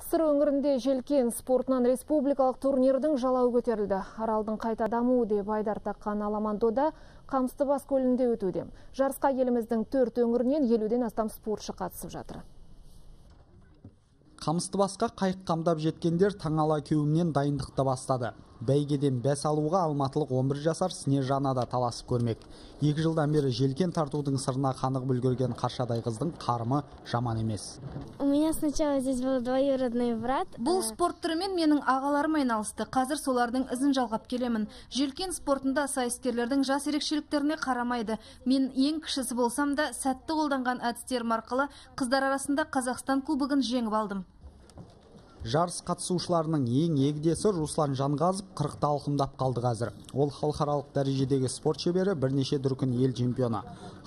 Сыр өңірінде желкен спортынан республикалық турнирдің жалауы көтерілді. Аралдың қайта дамуы деп айдар таққан Аламандода Қамыстыбас көлінде өтуде. Жарысқа еліміздің 4 өңірінен 50-ден астам спортшы қатысып жатыр. Қамыстыбасқа қайық қамдап жеткендер таңала кеуімнен дайындықты бастады. Бәйгеден бәс алуға алматылық 11 жасар Снежана да таласып көрмек. 2 жылдан бері желкен тартудың сырына қанығып үлгерген қаршадай қыздың қарымы жаман емес. У меня сначала здесь был двоюродный брат. Бұл спорт түрімен менің ағаларым айналысты. Қазір солардың ізін жалғап келемін. Желкен спортында сайыскерлердің жас ерекшеліктеріне қарамайды. Мен ең кішісі болсам да, сәтті қолданған әдістерім арқылы қыздар арасында Қазақстан кубогын жеңіп алдым. Жарыс қатысушыларының ең егдесі Руслан Жанғазып 40-та алқымдап қалды қазір. Ол халықаралық дәрежедегі спорт шебері, бірнеше дүркін ел чемпионы.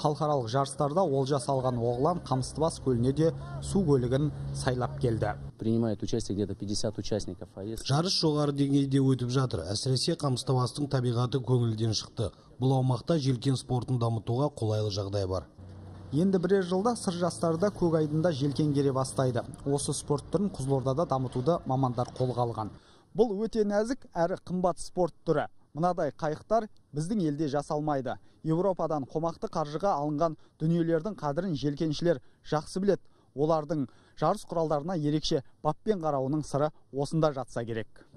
Халықаралық жарыстарда олжа салған оғлан Қамыстыбас көліне де су көлігін сайлап келді. Принимает участие где-то 50 участников. Жарыс жоғары деңгейде өтіп жатыр. Әсіресе Қамыстыбастың табиғаты көңілден шықты. Бұл аумақта желкен спортын дамытуға қолайлы жағдай бар. Енді бірер жылда сыр жастарда көк айдында желкен кере бастайды. Осы спорт түрін Қызылордада дамытуды мамандар қолға алған. Бұл өте нәзік әрі қымбат спорт түрі. Мынадай қайықтар біздің елде жасалмайды. Еуропадан қомақты қаржыға алынған дүниелердің қадірін желкеншілер жақсы білет. Олардың жарыс құралдарына ерекше баппен қарауының сыры осында жатса керек.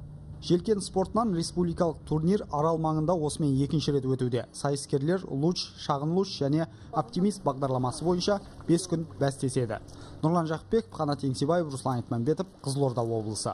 Желкен спортынан республикалық турнир Арал маңында осымен 2-ші рет өтуде. Сайыскерлер Луч, Шағын Луч және Оптимист бағдарламасы бойынша 5 күн бәстеседі. Нұрлан Жақпеков, Қанат Еңсебаев, Руслан Айтманбетов, Қызылорда облысы.